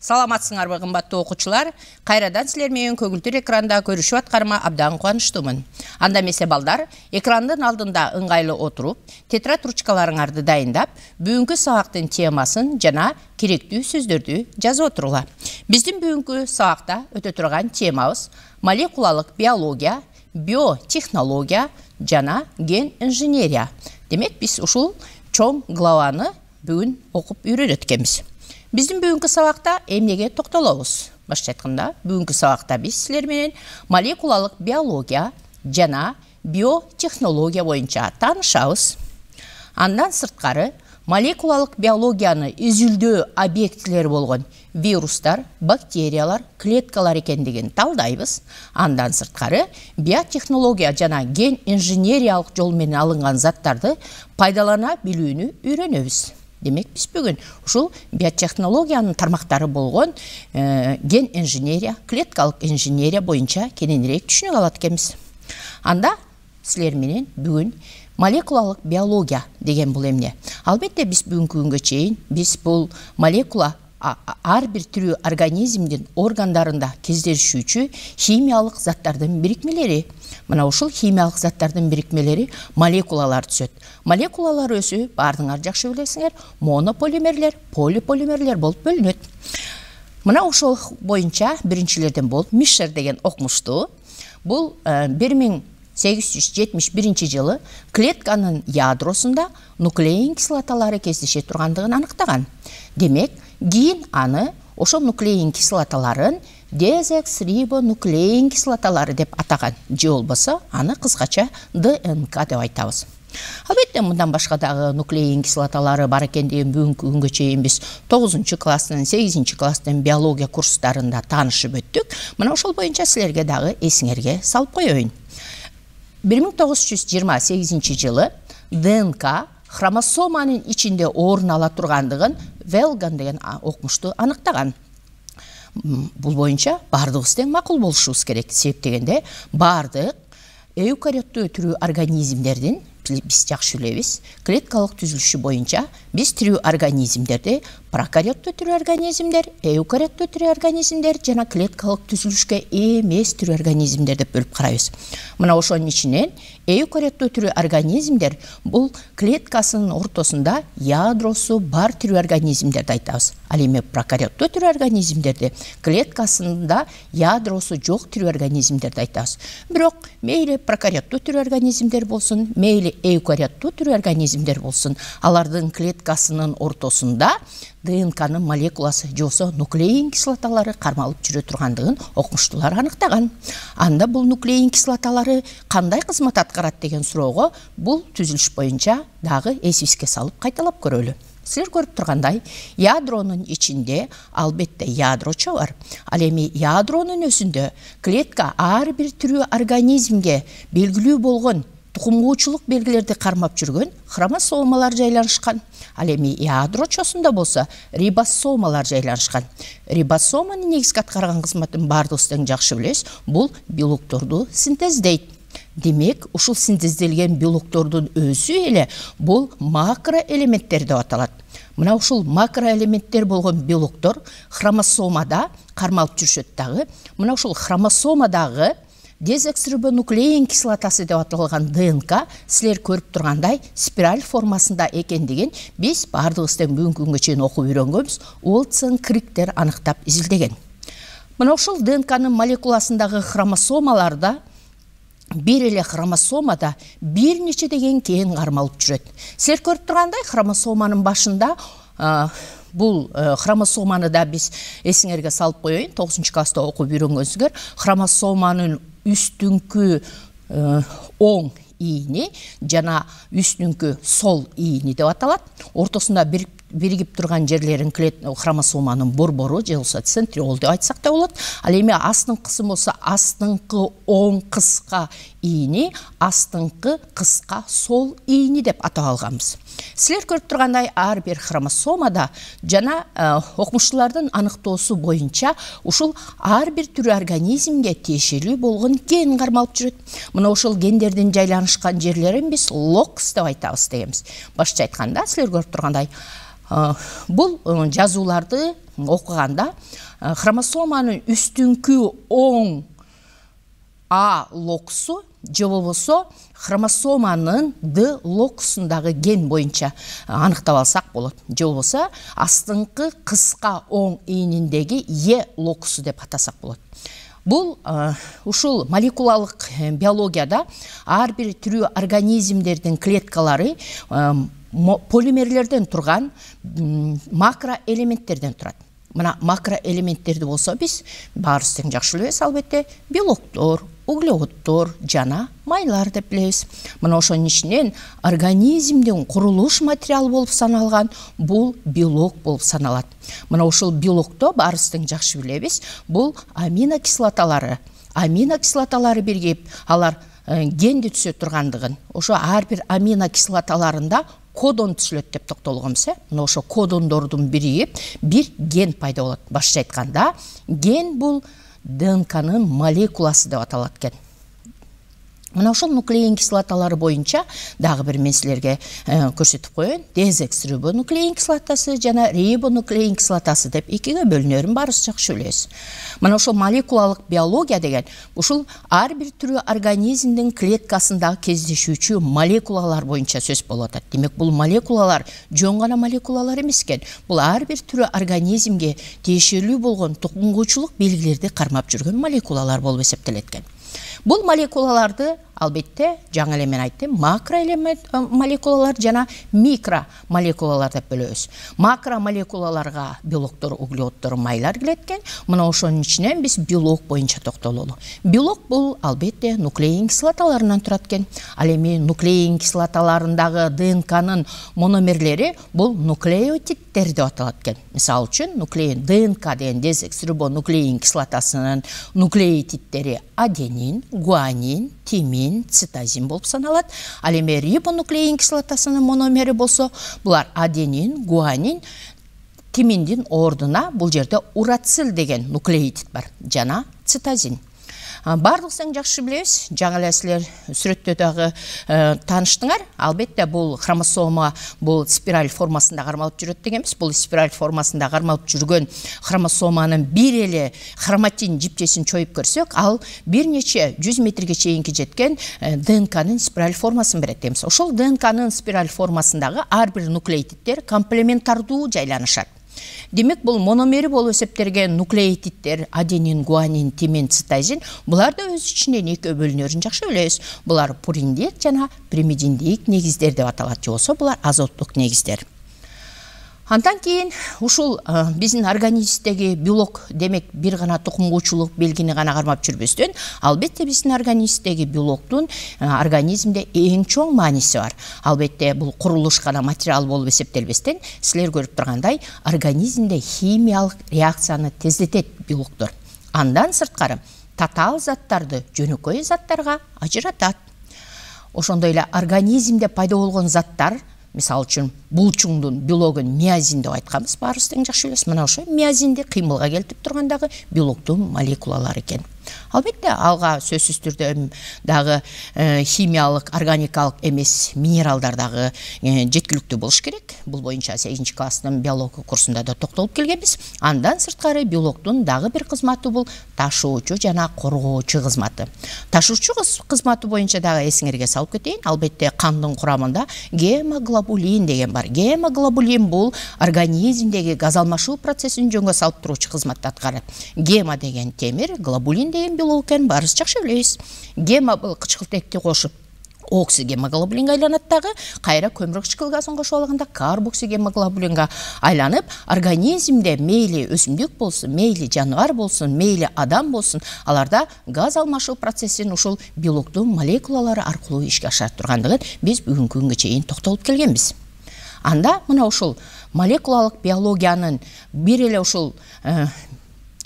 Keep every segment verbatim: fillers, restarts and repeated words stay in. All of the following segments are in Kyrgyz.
Саламатсыңарбы, кымбаттуу окуучулар? Кайрадан силер менен көгүлтүр экранда көрүшүп аткарыма абдан кубанычтуумун. Анда эмесе балдар, экрандын алдында ыңгайлуу отуруп, тетрадь ручкаларыңарды дайындап, бүгүнкү сабактын темасын жана керектүү сөздөрдү жазып отуруңар. Биздин бүгүнкү сабакта өтө турган темабыз молекулалык биология, биотехнология жана ген инженерия. Демек, биз ушул чоң главаны бүгүн окуп үйрөнөт экенбиз. Биздин бүгүнкү сабакта эмнеге токтолобуз? Башкача айтканда, бүгүнкү сабакта биз силер менен молекулалык биология жана биотехнология боюнча таанышабыз. Андан сырткары, молекулалык биологияны изилдөө объектилери болгон вирустар, бактериялар, клеткалар экендигин талдайбыз. Андан сырткары, биотехнология жана ген инженериялык жол менен алынган заттарды пайдалана билүүнү үйрөнөбүз. Демек, биз бүгүн ушул биотехнологиянын тармактары болгон э, ген инженерия, клеткалык инженерия боюнча кененирээк түшүнүк алат экенбиз. Анда силер менен бүгүн молекулалык биология деген бул эмне? Албетте, биз бүгүнкү күнгө чейин биз бул молекула ар бир тирүү организмдин органдарында кездешүүчү химиялык заттардын бирикмелери. Мына ушул химиялык заттардын бирикмелери молекулалар түзөт. Молекулалар өзү баардыгыңар жакшы билесиңер, монополимерлер, полиполимерлер болуп бөлүнөт. Мына ошол боюнча биринчилерден болуп Мишер деген окумуштуу бул бир миң сегиз жүз жетимиш биринчи жылы клетканын ядросунда нуклеин кислоталары кездеше тургандыгын аныктаган. Демек, кийин аны ошол нуклеин кислоталарын дезоксирибонуклеин кислоталары деп атаган, же болбосо аны кыскача ДНК деп айтабыз. Албетте, мындан башка дагы нуклеин кислоталары бар экендигин бүгүнкү күнгө чейин биз тогузунчу класстын, сегизинчи класстын биология курстарында таанышып өттүк. Мына ошол боюнча силерге дагы эсиңерге салып коеюн. бир миң тогуз жүз жыйырма сегизинчи жылы ДНК хромосоманын ичинде орун ала тургандыгын Велган деген окумуштуу аныктаган. Бул боюнча баардыгыбыз тең макул болушубуз керек. Себеп дегенде, баардык эукариоттуу түрүү организмдердин, биз жакшы билебиз, клеткалык түзүлүшү боюнча биз тирүү организмдерди прокариоттуу түрүү организмдер, эукариоттуу түрүү организмдер жана клеткалык түзүлүшкө эмес түрүү организмдер деп бөлүп карайбыз. Мына ошонун ичинен эукариоттуу түрүү организмдер бул клеткасынын ортосунда ядросу бар түрүү организмдерди айтабыз. Ал эми прокариоттуу түрүү организмдерди клеткасында ядросу жок түрүү организмдерди айтабыз. Бирок мейли прокариоттуу түрүү организмдер болсун, мейли эукариоттуу түрүү организмдер болсун, алардын клеткасынын ортосунда ДНКнын молекуласы же болбосо нуклеин кислоталары кармалып жүрө тургандыгын окумуштуулар аныктаган. Анда бул нуклеин кислоталары кандай кызмат аткарат деген суроого бул түзүлүш боюнча дагы эсибизге салып кайталап көрөлү. Силер көрүп тургандай, ядронун ичинде албетте ядрочо бар. Ал эми ядронун өзүндө клетка ар бир тирүү организмге белгилүү болгон тукумгуучулук белгилерди кармап жүргөн хромосомалар жайланышкан. Ал эми ядрочосунда болсо рибосомалар жайланышкан. Рибосоманын негизги аткарган кызматын баардыгыбыз тең жакшы билебиз. Бул белокторду синтездейт. Демек, ушул синтезделген белоктордун өзү эле бул макроэлементтер деп аталат. Мына ушул макроэлементтер болгон белоктор хромосомада кармалып жүрүшөт дагы. Мына ушул хромосомадагы дезоксирибонуклеин кислотасы деп аталган ДНК силер көрүп тургандай спираль формасында экендигин биз баардыгыбыз тең бүгүнкү күнгө чейин окуп үйрөнгөнбүз. Уотсон Криктер аныктап изилдеген. Мына ушул ДНКнын молекуласындагы хромосомаларда бир эле хромосомада бир нече деген кен кармалып жүрөт. Силер көрүп тургандай хромосоманын башында бул хромосоманы да биз эсиңерге салып коеюн, тогузунчу класста окуп үйрөнгөнсүздөр. Хромосоманын үстүңкү оң ийини жана үстүңкү сол ийини деп аталат. Ортосунда бир биригип турган жерлерин хромосоманын борбору же болбосо центриол деп айтсак да болот. Ал эми астыңкысы болсо астыңкы оң кыска ийини астыңкы кыска сол ийини деп атап алганбыз. Силер көрүп тургандай ар бир хромосомада жана окумуштуулардын аныктоосу боюнча ушул ар бир түрү организмге тиешелүү болгон ген кармалып жүрөт. Мына ошол гендердин жайланышкан жерлерин биз локус деп айтабыз дегенбиз. Башкача айтканда силер көрүп тургандай бул жазууларды окуганда хромосоманын үстүңкү оң А локусу же болбосо хромосоманын Д локусундагы ген боюнча аныктап алсак болот. Же болбосо астыңкы кыска оң ийниндеги Е локусу деп атасак болот. Бул ушул молекулалык биологияда ар бир түрү организмдердин клеткалары полимерлерден турган макроэлементтерден турат. Мына макроэлементтерди болсо биз баарыбыз тең жакшы билебиз, албетте белоктор, углеводдор жана майлар деп билебиз. Мына ошонун ичинен организмдин курулуш материалы болуп саналган бул белок болуп саналат. Мына ушул белокто баарыбыз тең жакшы билебиз, бул аминокислоталары. Аминокислоталары биригип, алар генди түзө тургандыгын, ошо ар бир аминокислоталарында кодон түзүлөт деп токтолгонбуз. Мына ошо кодондордун биригип бир ген пайда болот. Башкача айтканда, ген бул Д Н К'нын молекуласы деп аталат экен. Мына ошол нуклеин кислоталары боюнча дагы бир мен силерге көрсөтүп коеюн. Дезоксирибонуклеин кислотасы жана рибонуклеин кислотасы деп экиге бөлүнөрүн баарыбыз жакшы билебиз. Мына ошол молекулалык биология деген ушул ар бир түрү организмдин клеткасындагы кездешүүчү молекулалар боюнча сөз болуп атат. Демек, бул молекулалар жөн гана молекулалар эмес экен. Бул ар бир түрү организмге тиешелүү болгон тукумгуучулук белгилерди кармап жүргөн молекулалар болуп эсептелет экен. Бул молекулаларды албетте жаңы эле мен айттым, макроэлемент молекулалар жана микро молекулалар деп бөлөбүз. Макро молекулаларга белоктор, углеводдор, майлар кирет экен. Мына ошонун ичинен биз белок боюнча токтололу. Белок бул албетте нуклеин кислоталарынан турат экен. Ал эми нуклеин кислоталарындагы Д Н К'нын мономерлери бул нуклеотидтер деп аталат экен. Мисалы үчүн нуклеин Д Н К деген дезоксирибонуклеин кислотасынын нуклеотидтери аденин, гуанин, тимин, цитозин болуп саналат. Ал эми рибонуклеин кислотасынын мономери болсо, булар аденин, гуанин, тиминдин ордуна бул жерде урацил деген нуклеотид бар жана цитозин. Бардыгыбыз тең жакшы билебиз, жаңы эле силер сүрөттө дагы тааныштыңар. Албетте бул хромосома бул спираль формасында кармалып жүрөт дегенбиз. Бул спираль формасында кармалып жүргөн хромосоманын бир эле хроматин жипчесин чоюп көрсөк, ал бир нече жүз метрге чейинки жеткен Д Н К'нын спираль формасын берет дейбиз. Ошол Д Н К'нын спираль формасындагы ар бир нуклеотидтер комплементардуу жайланышат. Демек, бул мономери болуп эсептелген нуклеотидтер аденин, гуанин, тимин, цитозин булар да өз ичинен экөө бөлүнөрүн жакшы билебиз. Булар пуриндик жана пиримидиндик негиздер деп аталат, же болсо булар азоттук негиздер. Андан кийин ушул биздин организмдеги белок, демек бир гана тукумгуучулук белгини гана кармап жүрбөстөн, албетте биздин организмдеги белоктун организмде эң чоң мааниси бар. Албетте бул курулуш гана материал болуп эсептелбестен, силер көрүп тургандай, организмде химиялык реакцияны тездетет белоктор. Андан сырткары татаал заттарды жөнөкөй заттарга ажыратат. Ошондой эле организмде пайда болгон заттар, мисалы үчүн булчуңдун биологун миозин деп айтканбыз, баарыбыз тең жакшы билебиз. Мына ошо миозинди кыймылга келтирип тургандагы белоктун молекулалары экен. Албетте алга сөзсүз түрдө дагы химиялык, органикалык эмес минералдар дагы жеткиликтүү болуш керек. Бул боюнча сегизинчи класстын биология курсунда да токтолуп келгенбиз. Андан сырткары белоктун дагы бир кызматы бул ташуучу жана коргоочу кызматы. Ташуучу кызматы боюнча дагы эсиңерге салып кетейин. Албетте кандын курамында гемоглобулин деген бар. Гемоглобулин бул организмдеги газ алмашуу процессин жөнгө салып туруучу кызматты аткарат. Гема деген темир, глобулин деген белок экен, баарыбыз жакшы билебиз. Гема бул кычкылтекти кошуп оксигемоглобулинге айланат дагы, кайра көмүр кычкыл газын кошуп алганда карбоксигемоглобулинге айланып, организмде мейли өсүмдүк болсун, мейли жаныбар болсун, мейли адам болсун, аларда газ алмашуу процессин ушул белоктун молекулалары аркылуу ишке ашырып тургандыгын биз бүгүнкү күнгө чейин токтолуп келгенбиз. Анда мына ушул молекулалык биологиянын бир эле ушул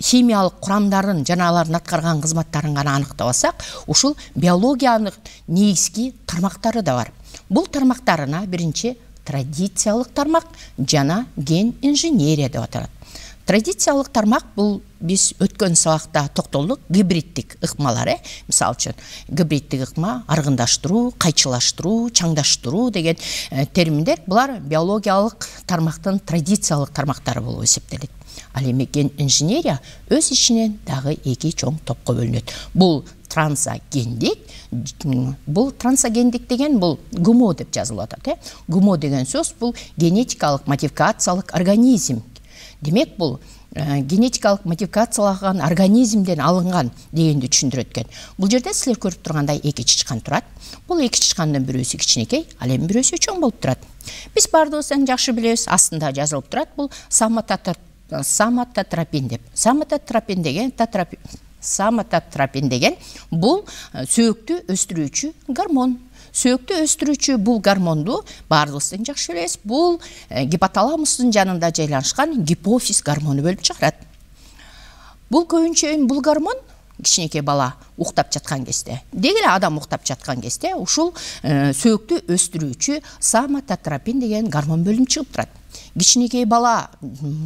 химиялык курамдарын жана алардын аткарган кызматтарын гана аныктап алсак, ушул биологиянын негизги тармактары да бар. Бул тармактарына биринчи традициялык тармак жана ген инженерия деп аталат. Традициялык тармак бул биз өткөн сабакта токтолдук, гибриддик ыкмалар, э, мисалы үчүн гибриддик ыкма аргындаштыруу, кайчылаштыруу, чаңдаштыруу деген терминдер булар биологиялык тармактын традициялык тармактары болуп эсептелет. Ал эми ген инженерия өз ичинен дагы эки чоң топко бөлүнөт. Бул трансогендик, бул трансогендик деген бул гумо деп жазылып атат, э. Гумо деген сөз бул генетикалык модификациялык организм. Демек бул генетикалык модификациялаган организмден алынган дегенди түшүндүрөт экен. Бул жерде силер көрүп тургандай эки чычкан турат. Бул эки чычкандын бирөөсү кичинекей, ал эми бирөөсү чоң болуп турат. Биз бардыгыбыз эң жакшы билебиз, астында жазылып турат, бул соматотропин деп. Соматотропин деген татропин Соматотропин деген бул сөөктү өстүрүүчү гормон. Сөөктү өстүрүүчү бул гормонду бардыгыбыз тең жакшы билебиз. Бул гипоталамустун жанында жайланышкан гипофиз гормону бөлүп чыгарат. Бул көбүнчө бул гормон кичинекей бала уктап жаткан кезде, деги эле адам уктап жаткан кезде ушул сөөктү өстүрүүчү соматотропин деген гормон бөлүнүп чыгып турат. Кичинекей бала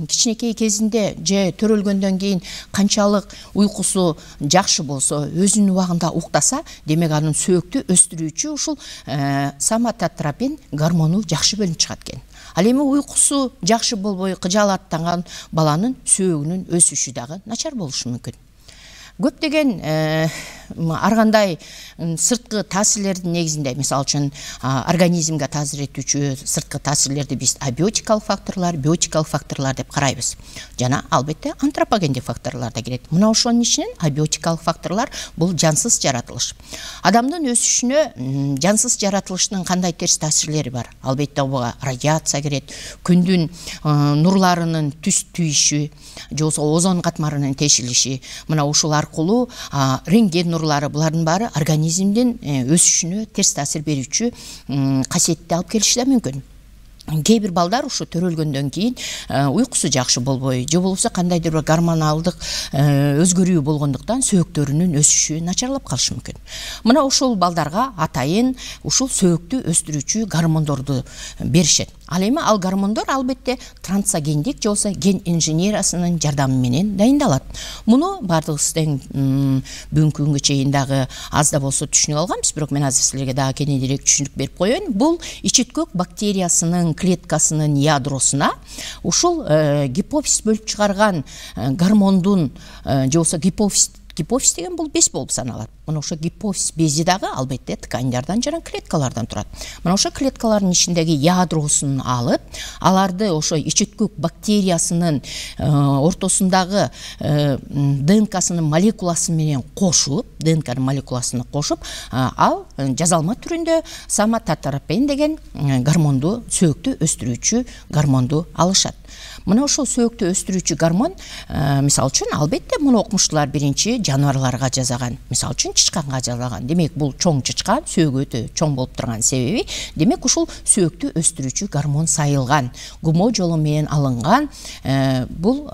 кичинекей кезинде же төрөлгөндөн кийин канчалык уйкусу жакшы болсо, өзүнүн убагында уктаса, демек анын сөөктү өстүрүүчү ушул соматотропин гормону жакшы бөлүнүп чыгат экен. Ал эми уйкусу жакшы болбой кыжаалаттанган баланын сөөгүнүн өсүшү дагы начар болушу мүмкүн. Көптөгөн ар кандай сырткы таасирлердин негизинде, мисалы үчүн организмге таасир этүүчү сырткы таасирлерди биз абиотикалык факторлор, биотикалык факторлор деп карайбыз. Жана албетте антропогендик факторлор да кирет. Мына ошонун ичинен абиотикалык факторлор бул жансыз жаратылыш. Адамдын өсүшүнө жансыз жаратылыштын кандай терс таасирлери бар? Албетте буга радиация кирет, күндүн нурларынын түс түйүшү, же болбосо озон катмарынын тешилиши, мына ушул аркылуу рентген нурлары, булардын баары организмдин өсүшүнө терс таасир берүүчү касиетти алып келиши да мүмкүн. Кээ бир балдар ушу төрөлгөндөн кийин уйкусу жакшы болбой, же болбосо кандайдыр бир гормоналдык өзгөрүү болгондуктан сөөктөрүнүн өсүшү начарлап калышы мүмкүн. Мына ушул балдарга атайын ушул сөөктү өстүрүүчү гормондорду беришет. Ал эми ал гормондор албетте трансогендик же болбосо ген инженериясынын жардамы менен дайындалат. Муну бардыгыбыз тең бүгүнкү күнгө чейин дагы аз да болсо түшүнүп алганбыз, бирок мен азыр силерге дагы кененирээк түшүнүк берип коеюн. Бул ичиткөк бактериясынын клеткасынын ядросуна ушул гипофиз бөлүп чыгарган гормондун же болбосо гипофиз Гипофиз деген бул без болуп саналат. Мына ошо гипофиз бези дагы албетте ткандардан жана клеткалардан турат. Мына ошо клеткалардын ичиндеги ядросун алып, аларды ошо ичиткөк бактериясынын ортосундагы ДНКсынын молекуласы менен кошуп, ДНКнын молекуласын кошуп, ал жазалма түрүндө соматотропин деген гормонду, сөөктү өстүрүүчү гормонду алышат. Мына ошол сөөктү өстүрүүчү гормон, мисалы үчүн, албетте муну окумуштуулар биринчи жаныбарларга жасаган, мисалы үчүн чычканга жасаган. Демек бул чоң чычкан, сөөгү өтө чоң болуп турган себеби, демек ушул сөөктү өстүрүүчү гормон сайылган, гумо жолу менен алынган, бул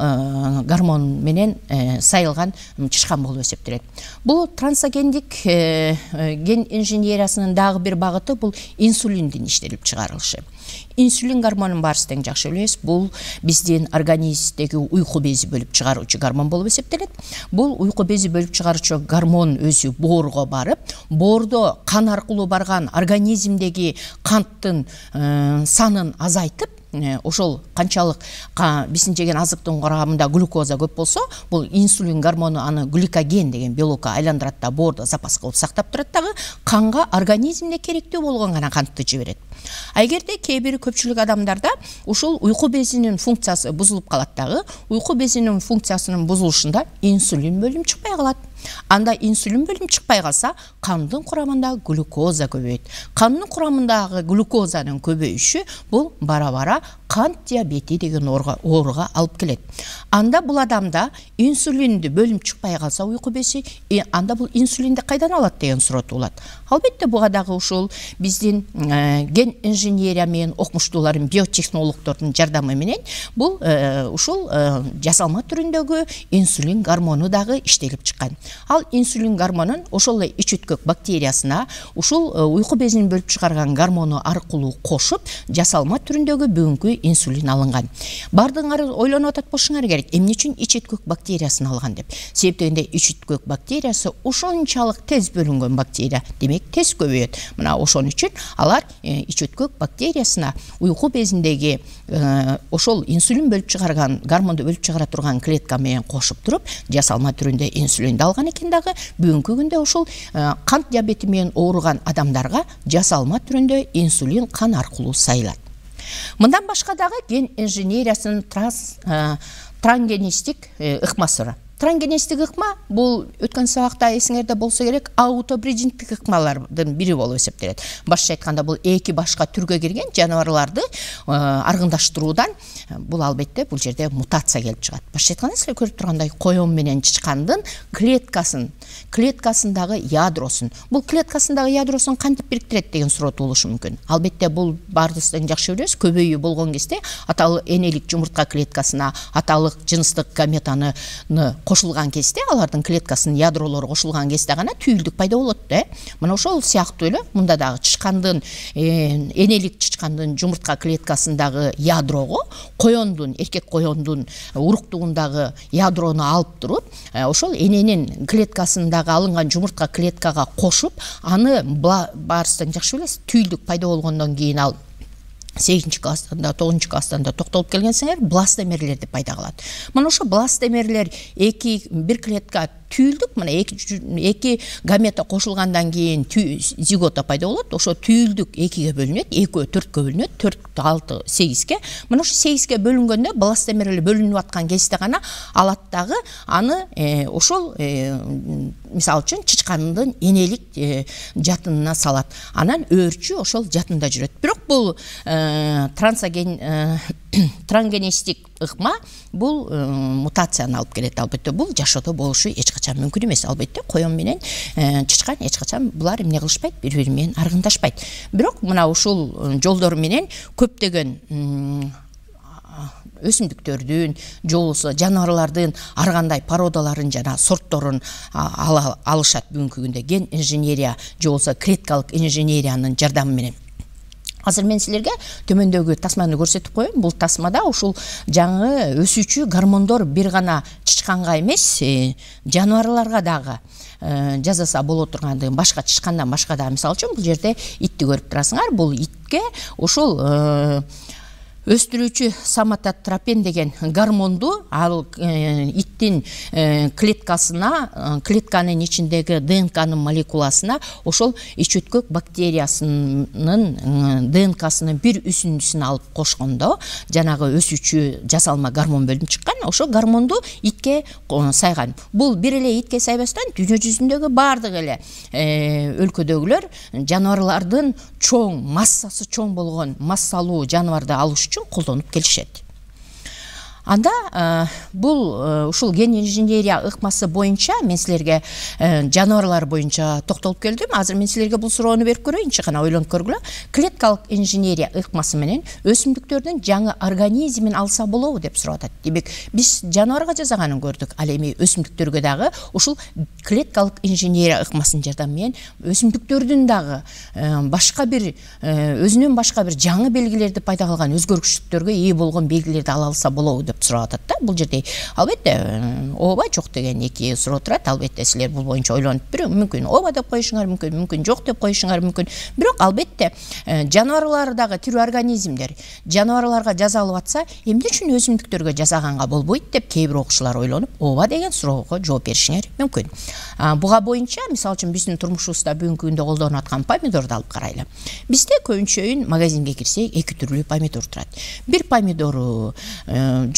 гормон менен сайылган чычкан болуп эсептелет. Бул трансогендик ген инженериясынын дагы бир багыты бул инсулиндин иштелип чыгарылышы. Инсулин гормонун баарыбыз тең жакшы билебиз. Бул биздин организмдеги уйку бези бөлүп чыгаруучу гормон болуп эсептелет. Бул уйку бези бөлүп чыгаруучу гормон өзү боорго барып, боордо кан аркылуу барган организмдеги канттын санын азайтып, ошол канчалык биздин жеген азыктын курамында глюкоза көп болсо, бул инсулин гормону аны гликоген деген белокко айландырат да боордо запас кылып сактап турат дагы, канга организмде керектүү болгон гана кантты жиберет. А эгерде кээ бир көпчүлүк адамдарда ушул уйку безинин функциясы бузулуп калат дагы, уйку безинин функциясынын бузулушунда инсулин бөлүнүп чыкпай калат. Анда инсулин бөлүнүп чыкпай калса, кандын курамында глюкоза көбөйөт. Кандын курамындагы глюкозанын көбөйүшү бул бара-бара кант диабети деген ооруга алып келет. Анда бул адамда инсулинди бөлүнүп чыкпай калса уйку бези, анда бул инсулинди кайдан алат деген суроо туулат. Албетте буга дагы ушул биздин ген инженерия менен окумуштуулардын, биотехнологдордун жардамы менен бул ушул жасалма түрүндөгү инсулин гормону дагы иштелип чыккан. Ал инсулин гормонун ошол эле ичөткөк бактериясына ушул уйку безин бөлүп чыгарган гормону аркылуу кошуп, жасалма түрүндөгү бүгүнкү инсулин алынган. Бардыңар ойлонуп атат болушуңар керек, эмне үчүн ичөткөк бактериясын алган деп. Себеби дегенде ичөткөк бактериясы ушунчалык тез бөлүнгөн бактерия, демек тез көбөйөт. Мына ошон үчүн алар ичөткөк бактериясына уйку безиндеги ошол инсулин бөлүп чыгарган, гормонду бөлүп чыгара турган клетка менен кошуп туруп, жасалма түрүндө инсулинди алган экен дагы. Бүгүнкү күндө ошол кант диабети менен ооруган адамдарга жасалма түрүндө инсулин кан аркылуу сайылат. Мындан башка дагы ген инженериясынын трансгенистик ыкмасы бар. Трансгенистик ыкма бул өткөн сабакта эсиңерде болсо керек, аутобридингтик ыкмалардын бири болуп эсептелет. Башкача айтканда бул эки башка түргө кирген жаныбарларды аргындаштыруудан бул албетте бул жерде мутация келип чыгат. Башкача айтканда силер көрүп тургандай коён менен чычкандын клеткасын, клеткасындагы ядросун, бул клеткасындагы ядросун кантип бириктирет деген суроо туулушу мүмкүн. Албетте бул баарыбыздан жакшы билебиз, көбөйүү болгон кезде аталык энелик жумуртка клеткасына аталык жыныстык гаметаны кошулган кезде, алардын клеткасынын ядролору кошулган кезде гана түйүлдүк пайда болот да. Мына ошол сыяктуу эле мында дагы чычкандын, энелик чычкандын жумуртка клеткасындагы ядрого коёндун, эркек коёндун уруктугундагы ядрону алып туруп, ошол эненин клеткасындагы алынган жумуртка клеткага кошуп, аны баарыбыздан жакшы билесиз, түйүлдүк пайда болгондон кийин ал сегизинчи класстан да, тогузунчу класстан да токтолуп келгенсиңер, бластомерлерди пайда кылат. Мына ошо бластомерлер эки бир клетка түйүлдүк, мына эки эки гамета кошулгандан кийин зигота пайда болот. Ошо түйүлдүк экиге бөлүнөт, экөө төрткө бөлүнөт, төрт, алты, сегизге. Мына ошо сегизге бөлүнгөндө бластомерлер бөлүнүп аткан кезде гана алат дагы аны ошол мисалы үчүн чычкандын энелик жатынына салат. Анан өөрчү ошол жатында жүрөт. Бирок бул трансгенистик ыкма бул мутацияны алып келет. Албетте бул жашоодо болушу эч качан мүмкүн эмес. Албетте коён менен чычкан эч качан булар эмне кылышпайт, бири-бири менен аргындашпайт. Бирок мына ушул жолдор менен көптөгөн өсүмдүктөрдүн, же болбосо жаныбарлардын ар кандай породаларын жана сортторун алышат бүгүнкү күндө ген инженерия же болбосо клеткалык инженериянын жардамы менен. Азыр мен силерге төмөндөгү тасманы көрсөтүп коеюн. Бул тасмада ушул жаңы өсүүчү гормондор бир гана чычканга эмес, жаныбарларга дагы жасаса боло тургандыгын, башка чычкандан башка да, мисалы үчүн бул жерде итти көрүп турасыңар. Бул итке ушул өстүрүүчү соматотропин деген гормонду ал иттин клеткасына, клетканын ичиндеги ДНКнын молекуласына ошол ичөткөк бактериясынын ДНКсынын бир үсүндүсүн алып кошкондо жанагы өсүүчү жасалма гормон бөлүнүп чыккан. Ошол гормонду итке сайган. Бул бир эле итке сайбастан дүйнө жүзүндөгү баардык эле өлкөдөгүлөр жаныбарлардын чоң, массасы чоң болгон массалуу жаныбарды алыш үчүн колдонуп келишет. Анда бул ушул ген инженерия ыкмасы боюнча мен силерге жаныбарлар боюнча токтолуп келдим. Азыр мен силерге бул суроону берип көрөйүнчү, кана ойлонуп көргүлө. Клеткалык инженерия ыкмасы менен өсүмдүктөрдүн жаңы организмин алса болобу деп сурап атат. Демек, биз жаныбарга жасаганын көрдүк, ал эми өсүмдүктөргө дагы ушул клеткалык инженерия ыкмасынын жардамы менен өсүмдүктөрдүн дагы башка бир өзүнөн башка бир жаңы белгилерди пайда кылган, өзгөргүчтүктөргө ээ болгон белгилерди ала алса болобу деп сурап атат да. Бул жерде албетте ооба жок деген эки суроо турат. Албетте силер бул боюнча ойлонуп бирөө мүмкүн ооба деп коюшуңар мүмкүн, мүмкүн жок деп коюшуңар мүмкүн. Бирок албетте жаныбарлардагы тирүү организмдер жаныбарларга жасалып атса, эмне үчүн өсүмдүктөргө жасаганга болбойт деп кээ бир окуучулар ойлонуп, ооба деген суроого жооп беришиңер мүмкүн. Буга боюнча мисалы үчүн биздин турмушубузда бүгүнкү күндө колдонуп аткан помидорду алып карайлы. Бизде көбүнчөйүн магазинге кирсек эки түрлүү помидор турат. Бир помидору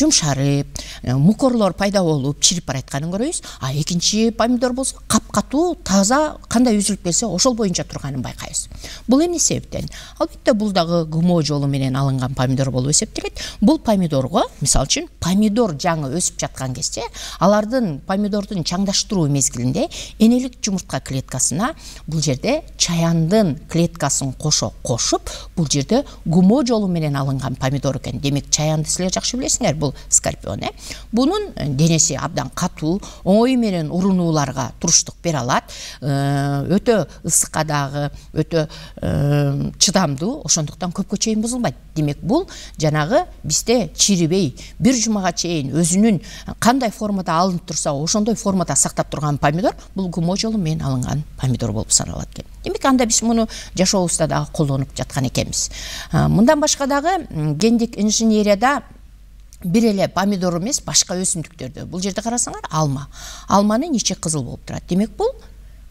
жумшарып, мукорлор пайда болуп чирип баратканын көрөбүз. А экинчи помидор болсо капкатуу, таза, кандай үзүлүп келсе ошол боюнча турганын байкайбыз. Бул эмне себептен? Албетте бул дагы ГМО жолу менен алынган помидор болуп эсептелет. Бул помидорго, мисалы үчүн, помидор жаңы өсүп жаткан кезде, алардын помидордун чаңдаштыруу мезгилинде энелик жумуртка клеткасына бул жерде чаяндын клеткасын кошо кошуп, бул жерде ГМО жолу менен алынган помидор экен. Демек, чаянды силер жакшы билесиңер, бул скорпион, э? Бунун денеси абдан катуу, оңой менен урунууларга туруштук бере алат, өтө ысыкка дагы өтө чыдамдуу, ошондуктан көпкө чейин бузулбайт. Демек, бул жанагы бизде чирибей, бир жумага чейин өзүнүн кандай формада алынып турса, ошондой формада сактап турган помидор бул ГМО жолу менен алынган помидор болуп саналат экен. Демек, анда биз муну жашообузда дагы колдонуп жаткан экенбиз. Мындан башка дагы гендик инженерияда бир эле помидор эмес, башка өсүмдүктөрдө. Бул жерде карасаңар, алма. Алманын ичи кызыл болуп турат. Демек, бул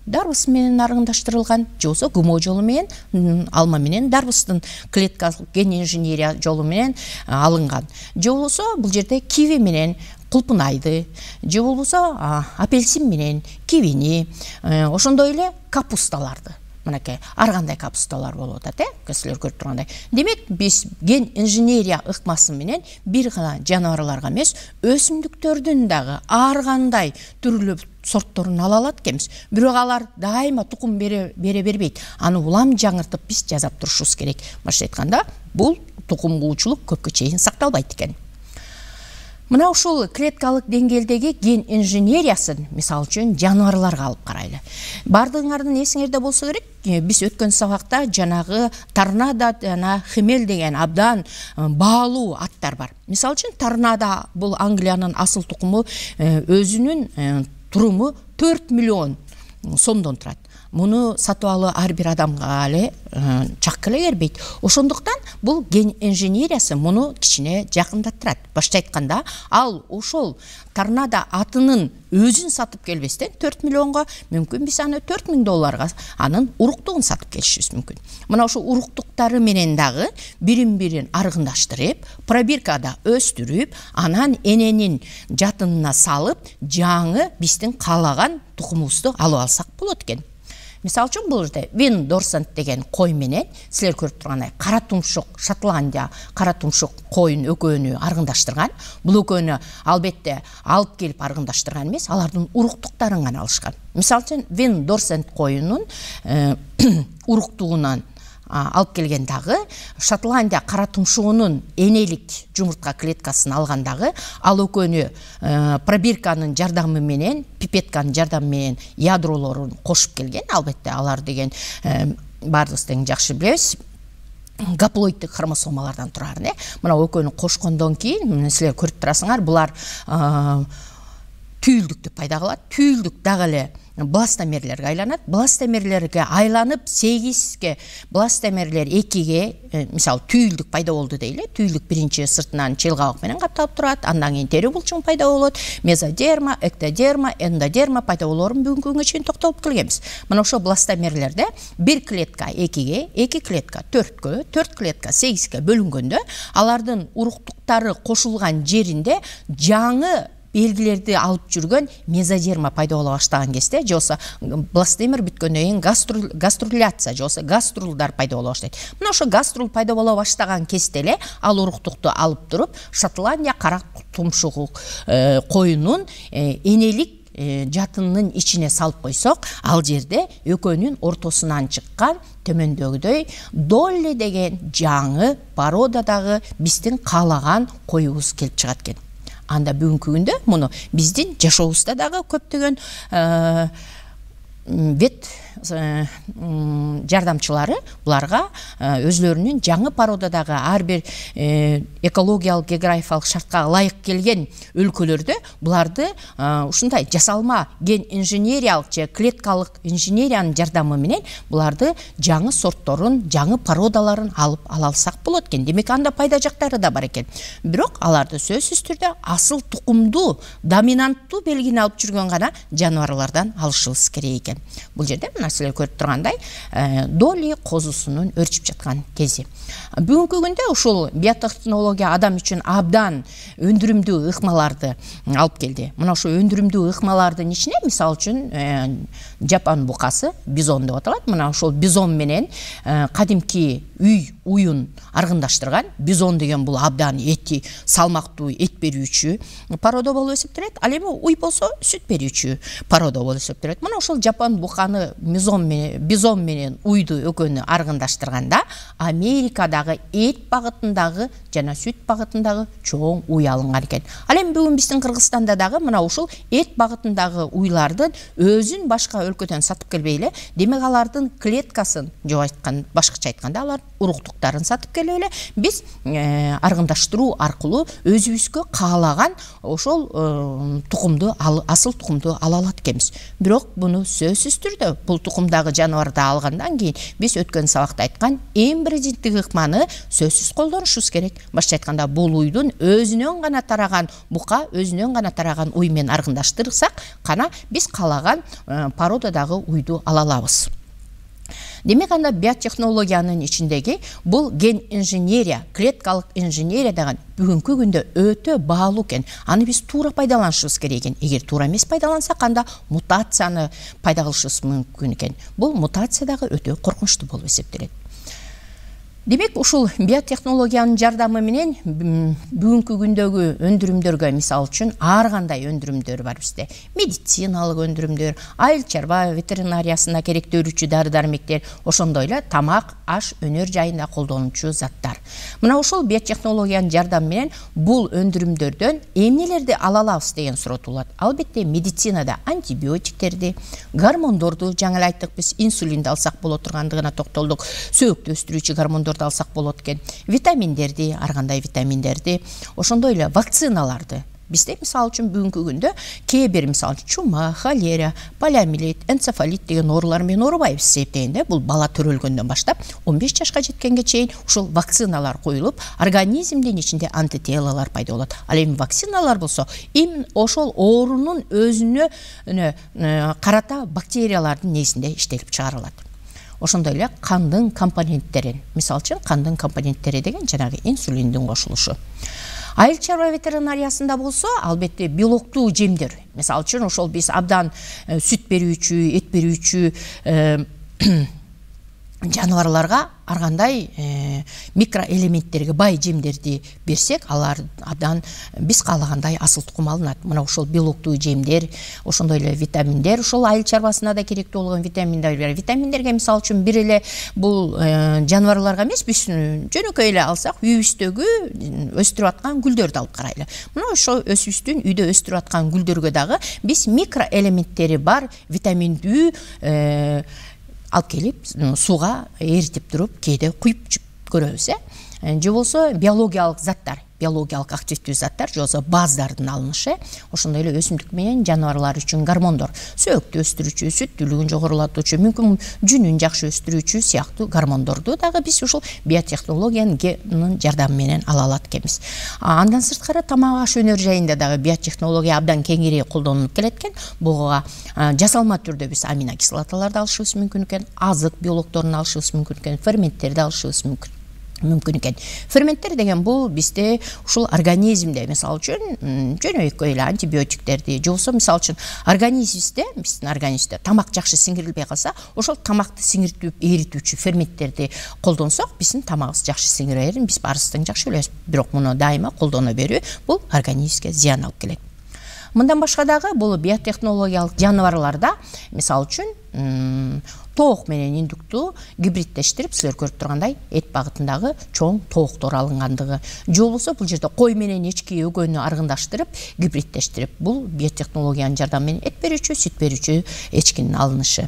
дарбыз менен аргындаштырылган, же болбосо ГМО жолу менен, алма менен дарбыздын клеткалык ген инженерия жолу менен алынган. Же болбосо бул жерде киви менен кулпунайды, же болбосо апельсин менен кивини, ошондой эле капусталарды. Мынакей ар кандай капусталар болуп атат, э? Силер көрүп тургандай. Демек, биз ген инженерия ыкмасы менен бир гана жаныбарларга эмес, өсүмдүктөрдүн дагы ар кандай түрлүү сортторун ала алат экенбиз. Бирок алар дайыма тукум бере бере бербейт. Аны улам жаңыртып биз жасап турушубуз керек. Башка айтканда, бул тукумгуучулук көпкө чейин сакталбайт экен. Мына ушул клеткалык деңгээлдеги ген инженериясын, мисалы үчүн, жаныбарларга алып карайлы. Бардыгыңардын эсиңерде болсо керек, биз өткөн сабакта жанагы торнадо жана хемел деген абдан баалуу аттар бар. Мисалы үчүн, торнадо бул Англиянын асыл тукуму, өзүнүн туруму төрт миллион сомдон турат. Муну сатып алуу ар бир адамга эле чак эле бербейт. Ошондуктан бул ген инженериясы муну кичине жакындаттырат. Башка айтканда, ал ошол торнадо атынын өзүн сатып келбестен төрт миллионго, мүмкүн биз аны төрт миң долларга анын уруктугун сатып келишибиз мүмкүн. Мына ошо уруктуктары менен дагы бирин-бирин аргындаштырып, пробиркада өстүрүп, анан эненин жатынына салып, жаңы биздин каалаган тукумубузду алып алсак болот экен. Мисалы үчүн, бул жерде Вин Дорсент деген кой менен силер көрүп тургандай кара тумшук Шотландия кара тумшук коюн экөөнү аргындаштырган. Бул экөөнү албетте алып келип аргындаштырган эмес, алардын уруктуктарын гана алышкан. Мисалы үчүн, Вин Дорсент коюнун уруктугунан алып келген дагы Шотландия кара тумшугунун энелик жумуртка клеткасын алгандагы, ал экөөнү пробирканын жардамы менен, пипетканын жардамы менен ядролорун кошуп келген. Албетте алар деген баарыбыз тең жакшы билебиз, гаплоиддик хромосомалардан турарын, э? Мына экөөнү кошкондон кийин силер көрүп турасыңар, булар түйүлдүктү пайда кылат. Түйүлдүк дагы эле бластомерлерге айланат. Бластомерлерге айланып, сегизге, бластомерлер экиге, мисалы, түйүлдүк пайда болду дейле. Түйүлдүк биринчи сыртынан челгабык менен капталып турат, андан кийин тери булчуң пайда болот. Мезодерма, эктодерма, эндодерма пайда болоорун бүгүнкү күнгө чейин токтолуп келгенбиз. Мына ошо бластомерлерде бир клетка экиге, эки клетка төрткө, төрт клетка сегизге бөлүнгөндө, алардын уруктуктары кошулган жеринде жаңы белгилерди алып жүргөн мезодерма пайда боло баштаган кезде, же болбосо бластомер бүткөндөн кийин гаструляция, же болбосо гаструлдар пайда боло баштайт. Мына ошо гаструл пайда боло баштаган кезде эле ал уруктукту алып туруп, Шотландия кара тумшугу коюнун энелик жатынын ичине салып койсок, ал жерде экөөнүн ортосунан чыккан төмөндөгүдөй Долли деген жаңы породадагы биздин каалаган коюбуз келип чыгат экен. Анда бүгүнкү күндө муну биздин жашообузда дагы көптөгөн вет жардамчылары буларга өзлөрүнүн жаңы породадагы ар бир экологиялык географиялык шартка ылайык келген өлкөлөрдө буларды ушундай жасалма ген инженериялык же клеткалык инженериянын жардамы менен буларды жаңы сортторун, жаңы породаларын алып ала алсак болот экен. Демек, анда пайда жактары да бар экен. Бирок аларды сөзсүз түрдө асыл тукумдуу, доминанттуу белгини алып жүргөн гана жаныбарлардан алышыбыз керек экен. Бул жерде мына жана силер көрүп тургандай доли козусунун өрчүп жаткан кези. Бүгүнкү күндө ушул биотехнология адам үчүн абдан өндүрүмдүү ыкмаларды алып келди. Мына ошо өндүрүмдүү ыкмалардын ичине мисалы үчүн Жапон букасы, бизон деп аталат. Мына ошол бизон менен кадимки үй уюн аргындаштырган. Бизон деген бул абдан эти салмактуу, эт берүүчү порода болуп эсептелет. Ал эми уй болсо сүт берүүчү порода болуп эсептелет. Мына ошол Жапон буканы бизон менен, бизон менен уйду экөөнү аргындаштырганда Америкадагы эт багытындагы жана сүт багытындагы чоң уй алынган экен. Ал эми бүгүн биздин Кыргызстанда дагы мына ушул эт багытындагы уйлардын өзүн башка өлкөдөн сатып келбей эле, демек алардын клеткасын, же айткан башкача айтканда алар уруктуктарын сатып келип эле биз аргындаштыруу аркылуу өзүбүзгө каалаган ошол тукумду, асыл тукумду ала алат экенбиз. Бирок буну сөзсүз түрдө бул тукумдагы жаныбарды алгандан кийин биз өткөн сабакта айткан эң биринчи ыкманы сөзсүз колдонушубуз керек. Башка айтканда бул уйдун өзүнөн гана тараган бука, өзүнөн гана тараган уй менен аргындаштырсак кана биз каалаган породадагы уйду ала алабыз. Демек анда биотехнологиянын ичиндеги бул ген инженерия, клеткалык инженерия деген бүгүнкү күндө өтө баалуу экен. Аны биз туура пайдаланышыбыз керек экен. Эгер туура эмес пайдалансак, анда мутацияны пайда кылышыбыз мүмкүн экен. Бул мутация дагы өтө коркунучтуу болуп эсептелет. Демек, ушул биотехнологиянын жардамы менен бүгүнкү күндөгү өндүрүмдөргө, мисалы үчүн, ар кандай өндүрүмдөр бар бизде. Медициналык өндүрүмдөр, айыл чарба ветеринариясына керектөөрүчү дары-дармектер, ошондой эле тамак, аш, өнөр жайында колдонуучу заттар. Мына ушул биотехнологиянын жардамы менен бул өндүрүмдөрдөн эмнелерди ала алабыз деген суроо туулат. Албетте, медицинада антибиотиктерди, гормондорду, жаңы эле айттык биз, инсулинди алсак боло тургандыгына токтолдук, сөөктү өстүрүүчү гормондор алсак болот экен, витаминдерди, ар кандай витаминдерди, ошондой эле вакциналарды. Бизде мисалы үчүн бүгүнкү күндө кээ бир мисалы чума, холера, полиомиелит, энцефалит деген оорулар менен оорубайбыз эсептегенде, бул бала төрөлгөндөн баштап он беш жашка жеткенге чейин ушул вакциналар коюлуп, организмдин ичинде антителалар пайда болот. Ал эми вакциналар болсо, эми ошол оорунун өзүнө карата бактериялардын негизинде иштелип чыгарылат. Ошондой эле кандын компоненттерин, мисалы үчүн кандын компоненттери деген жанагы инсулиндин кошулушу. Айыл чарба ветеринариясында болсо, албетте белоктуу жемдер. Мисалы үчүн ошол биз абдан сүт берүүчү, эт берүүчү жаныбарларга ар кандай микроэлементтерге бай жемдерди берсек, алар абдан биз каалагандай асыл тукум алынат. Мына ошол белоктуу жемдер, ошондой эле витаминдер, ошол айыл чарбасына да керектүү болгон витаминдер. Витаминдерге мисалы үчүн бир эле бул жаныбарларга эмес, биз жөнөкөй эле алсак, үйүбүздөгү өстүрүп аткан гүлдөрдү алып карайлы. Мына ошол өсүбүздүн үйдө өстүрүп аткан гүлдөргө дагы биз микроэлементтери бар витаминдүү алып келип, сууга эритип туруп, кээде куюп көрөбүз, э? Же болсо биологиялык заттар, биологиялык активдүү заттар, же болсо баздардын алынышы, ошондой эле өсүмдүк менен жаныбарлар үчүн гормондор, сөөктү өстүрүүчү, сүттүүлүгүн жогорулатуучу, мүмкүн жүнүн жакшы өстүрүүчү сыяктуу гормондорду дагы биз ушул биотехнологиянын жардамы менен ала алат экенбиз. Андан сырткары тамак аш өнөр жайында дагы биотехнология абдан кеңири колдонулуп келет экен. Буга жасалма түрдө биз аминокислоталарды алышыбыз мүмкүн экен, азык белокторун алышыбыз мүмкүн экен, ферменттерди алышыбыз мүмкүн. мүмкүн экен. Ферменттер деген бул бизде ушул организмде, мисалы үчүн, жөнөкөй эле антибиотиктерди, же болсо мисалы үчүн организмибизде, биздин организмде тамак жакшы сиңирилбей калса, ошол тамакты сиңиртип эритүүчү ферменттерди колдонсок, биздин тамагыбыз жакшы сиңирерин биз баарыбыз жакшы билебиз. Бирок муну дайыма колдоно берүү бул организмге зыян алып келет. Мындан башка дагы бул биотехнологиялык жаныбарларда, мисалы үчүн, тоок менен индукту гибридтештирип, силер көрүп тургандай, эт багытындагы чоң тооктор алынгандыгы, же болбосо бул жерде кой менен эчки өгөнү аргындаштырып, гибридтештирип, бул биотехнологиянын жардамы менен эт берүүчү, сүт берүүчү эчкинин алынышы.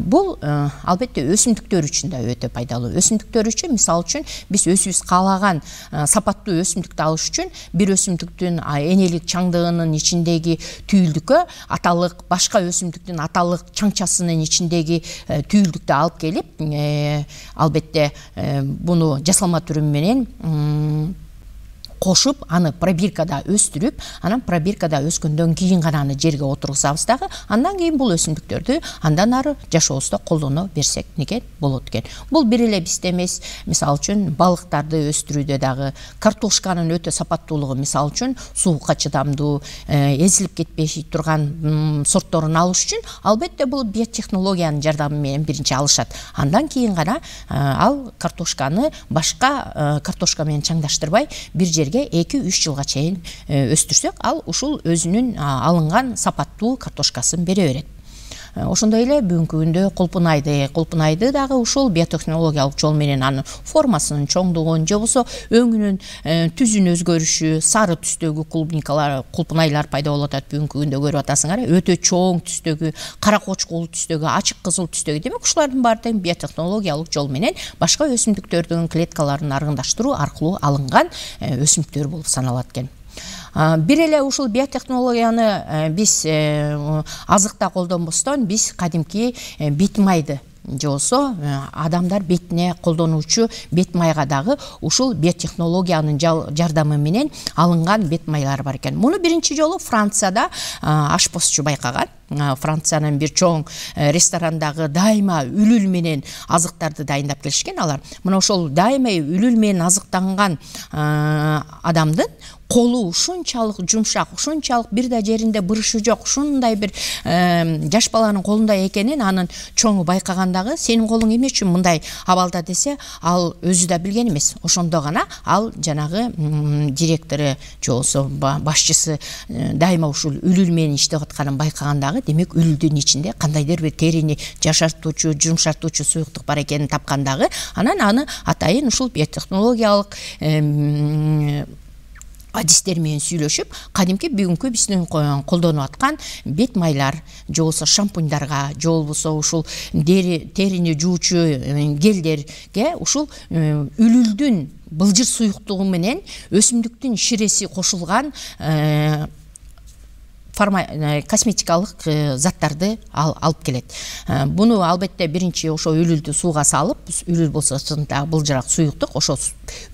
Бул албетте өсүмдүктөр үчүн да өтө пайдалуу. Өсүмдүктөр үчүн, мисалы үчүн, биз өзүбүз каалаган сапаттуу өсүмдүктү алыш үчүн бир өсүмдүктүн энелик чаңдыгынын ичиндеги түйүлдүккө аталык башка өсүмдүктүн аталык чаңчасынын ичиндеги түйүлдүктү алып келип, албетте буну жасалма түрү менен кошуп аны пробиркада өстүрүп, анан пробиркада өскөндөн кийин гана аны жерге отургузабыз дагы. Андан кийин бул өсүмдүктөрдү андан ары жашообузда колдоно берсек неге болот экен. Бул бир эле бизде эмес, мисалы үчүн балыктарды өстүрүүдө дагы картошканын өтө сапаттуулугу, мисалы үчүн суукка чыдамдуу, эзилип кетпей турган сортторун алыш үчүн албетте бул биотехнологиянын жардамы менен биринчи алышат. Андан кийин гана ал картошканы башка картошка менен чаңдаштырбай бир жерге эки үч жылга чейин өстүрсөк, ал ушул өзүнүн алынган сапаттуу картошкасын бере берет. Ошондой эле бүгүнкү күндө кулпунайды, кулпунайды дагы ушул биотехнологиялык жол менен анын формасынын чоңдугун, же болбосо өңүнүн түзүн өзгөрүшү, сары түстөгү кулпуникалар, кулпунайлар пайда болуп атат бүгүнкү күндө, көрүп атасыңар, өтө чоң түстөгү, кара кочкул түстөгү, ачык кызыл түстөгү. Демек ушулардын баары тең биотехнологиялык жол менен башка өсүмдүктөрдүн клеткаларын аргындаштыруу аркылуу алынган өсүмдүктөр болуп саналат экен. Бир эле ушул биотехнологияны биз азыкта колдонбостон, биз кадимки бет майды же болбосо адамдар бетине колдонуучу бет майга дагы ушул биотехнологиянын жардамы менен алынган бет майлар бар экен. Муну биринчи жолу Францияда ашпозчу байкаган. Франциянын бир чоң ресторандагы дайыма үлүл менен азыктарды дайындап келишкен алар. Мына ошол дайыма үлүл менен азыктанган адамдын колу ушунчалык жумшак, ушунчалык бир да жеринде бырышы жок, ушундай бир жаш баланын колунда экенин анын чоңу байкагандагы, сенин колуң эмне үчүн мындай абалда десе, ал өзү да билген эмес. Ошондо гана ал жанагы директору же болбосо башчысы дайыма ушул үлүл менен иштеп атканын байкагандагы, демек үлүлдүн ичинде кандайдыр бир терини жашартуучу, жумшартуучу суюктук бар экенин тапкандагы, анан аны атайын ушул биотехнологиялык адистер менен сүйлөшүп, кадимки бүгүнкү биздин колдонуп аткан бет майлар, же болбосо шампуньдарга, же болбосо ушул терини жуучу гелдерге ушул үлүлдүн былжыр суюктугу менен өсүмдүктүн ширеси кошулган косметикалык заттарды алып келет. Буну албетте биринчи ошо үлүлдү сууга салып, үлүл болсо сыртындагы былжырак суюктук, ошо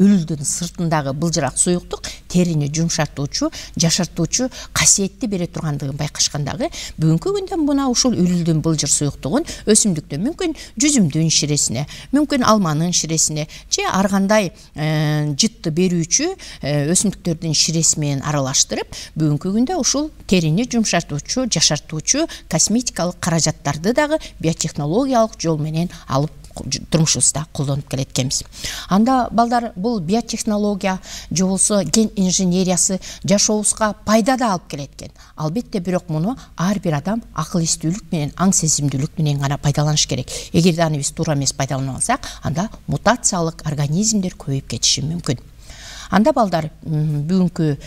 үлүлдүн сыртындагы былжырак суюктук терини жумшартуучу, жашартуучу касиетти бере тургандыгын байкашкандагы, бүгүнкү күндө мына ушул үлүлдүн былжыр суюктугун өсүмдүктө мүмкүн жүзүмдүн ширесине, мүмкүн алманын ширесине, же ар кандай жытты берүүчү өсүмдүктөрдүн ширеси менен аралаштырып, бүгүнкү күндө ушул терини жумшартуучу, жашартуучу косметикалык каражаттарды дагы биотехнологиялык жол менен алып турмушубузда колдонуп келет экенбиз. Анда балдар, бул биотехнология же болбосо ген инженериясы жашообузга пайда да алып келет экен. Албетте, бирок муну ар бир адам акыл эстүүлүк менен, аң сезимдүүлүк менен гана пайдаланыш керек. Эгерде аны биз туура эмес пайдаланып алсак, анда мутациялык организмдер көбөйүп кетиши мүмкүн. Анда балдар, бүгүнкү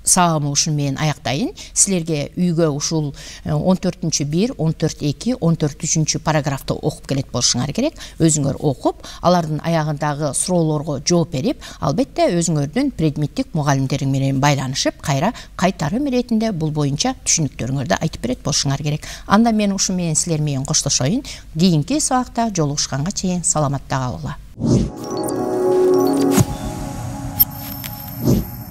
сабагымы ушун менен аяктайын. Силерге үйгө ушул он төртүнчү бир, он төрт эки, он төрт үчүнчү параграфты окуп келет болушуңар керек. Өзүңөр окуп, алардын аягындагы суроолорго жооп берип, албетте өзүңөрдүн предметтик мугалимдериң менен байланышып, кайра кайтарым иретинде бул боюнча түшүнүктөрүңөрдү айтып берет болушуңар керек. Анда мен ушу менен силер менен коштошоюн. Кийинки сабакта жолугушканга чейин саламатта калгыла.